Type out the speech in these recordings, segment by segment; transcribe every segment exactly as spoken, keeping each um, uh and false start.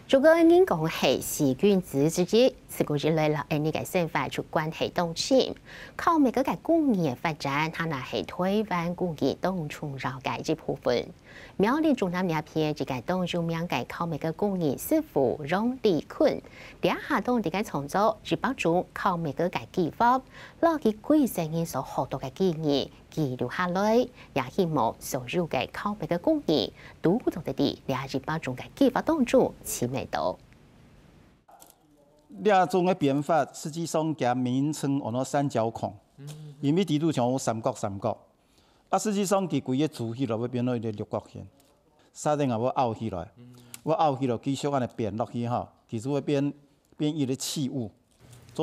如果人講係細君子之一，自古以來摎𠊎俚个生活就關係當深。烤麥个工藝个發展，它也係臺灣工藝當重要个一部分。苗栗竹南這片一個當有名个烤麥个工藝師傅楊立坤，這下當在該創作一百種烤麥个技法，摎佢幾十年所學到个技藝， 記錄下來，也希望所有个烤麥个工藝，都做得在這一百種个技法當中尋得到。這種个編法，實際上佢名稱安到三角孔，因為底肚像有三角三角。啊，實際上佢規個組起來會變到一個六角形，煞等啊，會拗起來，會拗起來繼續恁樣編落去吼，佢就會變，變一個器物。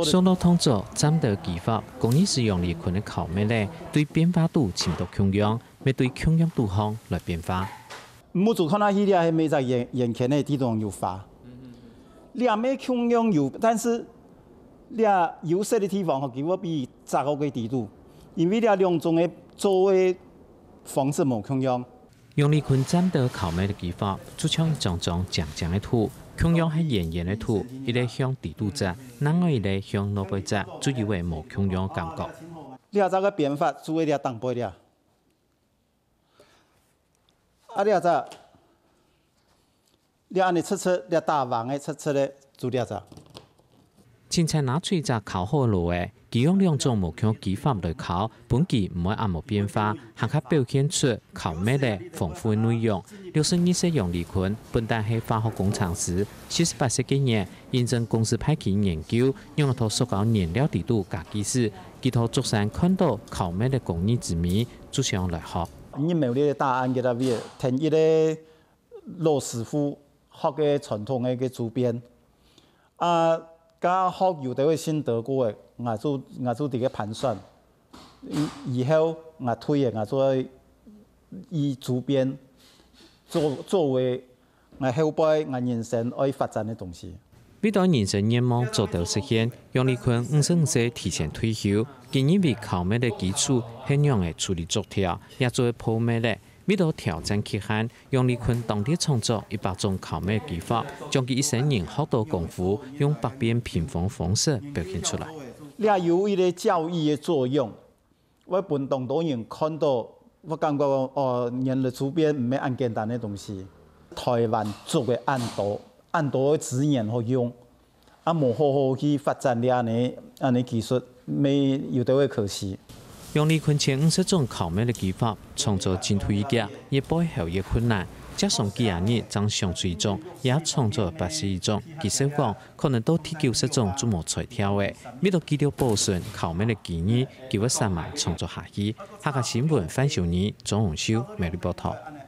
上到動作、斬刀技法，工藝師楊立坤个烤麥仔，對變化肚尋到共樣，乜對共樣肚項來變化。目珠看下去，這係每隻圓，圓圈个地方有花。這乜共樣有，但是這有色个地方吼，佢會比雜个个底肚，因為這兩種个做个方式無共樣。 楊立坤斬刀烤麥个技法，就像一張張靚靚个圖，共樣係圓圓个圖，一個向底肚䟘，另外一個向外背䟘，就有會無共樣个感覺。這隻个編法就係這頂背這。啊，這隻，這恁樣直直，這打橫个直直个，就這隻。 清采拿出一隻烤好个爐仔，佢用兩種無共技法來烤，分佢毋會恁無變化，還較表現出烤麥仔豐富个內容。六十二歲楊立坤本旦係化學工程師，四十八歲該年，因政公司派佢研究，仰仔在塑膠原料底肚加技術，佢在竹山看到烤麥个工藝之美，就想來學。你沒有這個答案給他，變成一個老師傅學个傳統个个主編。 啊，該學有兜个心得過个，𠊎就，𠊎就在該盤算，以，以後𠊎退个，𠊎就愛以主編作，作為𠊎後背𠊎人生愛發展个東西。為著人生願望做到實現，楊立坤五十五歲提前退休，佢認為烤麥个基礎係仰仔處理竹條，也做得泡麥仔， 為著挑戰極限，楊立坤當地創作一百種烤麥技法，將佢一生人學到功夫，用百變平方方式表現出來。這有一個教育个作用，會分當多人看到，會感覺講，哦，原來竹編毋係恁簡單个東西。臺灣竹个恁多，恁多个資源好用， 啊，無好好去發展這恁樣，恁樣技術，乜有兜个可惜。楊立坤前五十種烤麥个技法，創作進度已遽，也背後也困難，接上幾下日正想出一種，也創作八十一種，佢說講，可能到第九十種就無才調了。為著記錄保存烤麥个技藝，佢會煞猛創作下去。客家新聞范秀妮、鍾永修，苗栗報導。